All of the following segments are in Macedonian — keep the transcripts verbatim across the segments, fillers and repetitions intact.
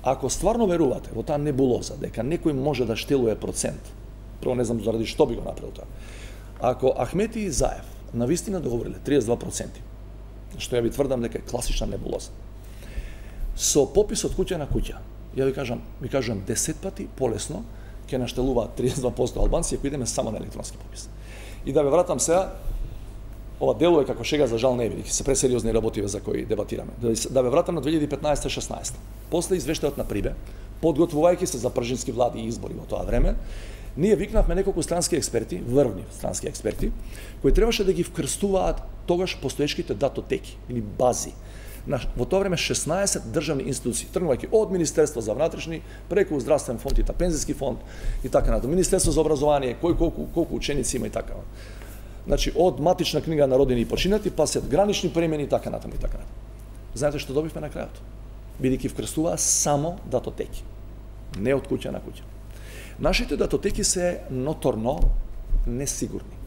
Ако стварно верувате во таа небулоза дека некој може да штелува процент, прво не знам заради што би го направил тоа. Ако Ахмети и Заев навистина договориле триесет и два проценти, што ја ви тврдам дека е класична небулоза, со попис од куќа на куќа, ја ви кажам, ви кажам десет пати полесно ќе наштелуваат триесет и два проценти албанци ако идеме само на електронски попис. И да ве вратам сега, ова делува како шега, за жал не е, бидејќи се пресериозни работи за кои дебатираме. Да ве вратам на две илјади и петнаесета шеснаесета. После извештајот на Прибе, подготвувајќи се за пржински влади и избори во тоа време, ние викнавме неколку странски експерти, врвни странски експерти, кои требаше да ги вкрстуваат тогаш постоечките датотеки или бази. Во тоа време шеснаесет државни институции, тргнувајќи од Министерство за внатрешни, преку Здравствен фонд и Пензиски фонд и така натаму, Министерство за образование, кој колку колку ученици има и така. Значи од матична книга на родени и починати, па се гранични премени и така натаму и така натаму. Знаете што добивме на крајот? Бидејќи вкрстуваа само датотеки, не од куќа на куќа. Нашите датотеки се ноторно несигурни.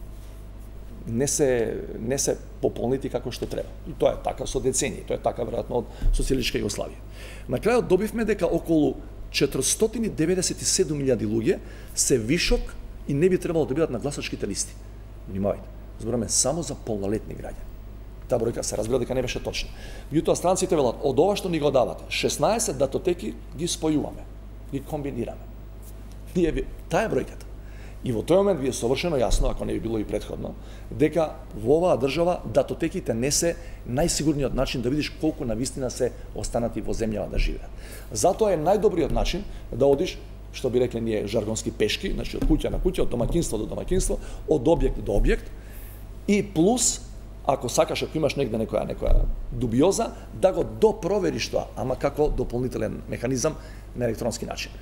Не се не се пополнити како што треба. И тоа е така со децении, тоа е така веројатно од социјалистичка Југославија. На крајот добивме дека околу четиристотини и деветдесет и седум илјади луѓе се вишок и не би требало да бидат на гласачките листи. Внимавајте, збораме само за полнолетни граѓани. Таа бројка се разбира дека не беше точна. Меѓутоа странците велат, од ова што ни го давате, шеснаесет датотеки ги спојуваме, ги комбинираме. Ние ви, таа е бројката. И во тој момент ви е совршено јасно, ако не би било и претходно, дека во оваа држава датотеките не се најсигурниот начин да видиш колку навистина се останати во земјава да живеат. Затоа е најдобриот начин да одиш, што би рекле ние жаргонски пешки, значи од куќа на куќа, од домаќинство до домаќинство, од објект до објект, и плюс, ако сакаш, ако имаш негде некоја некоја дубиоза, да го допровериш тоа, ама како дополнителен механизам на електронски начин.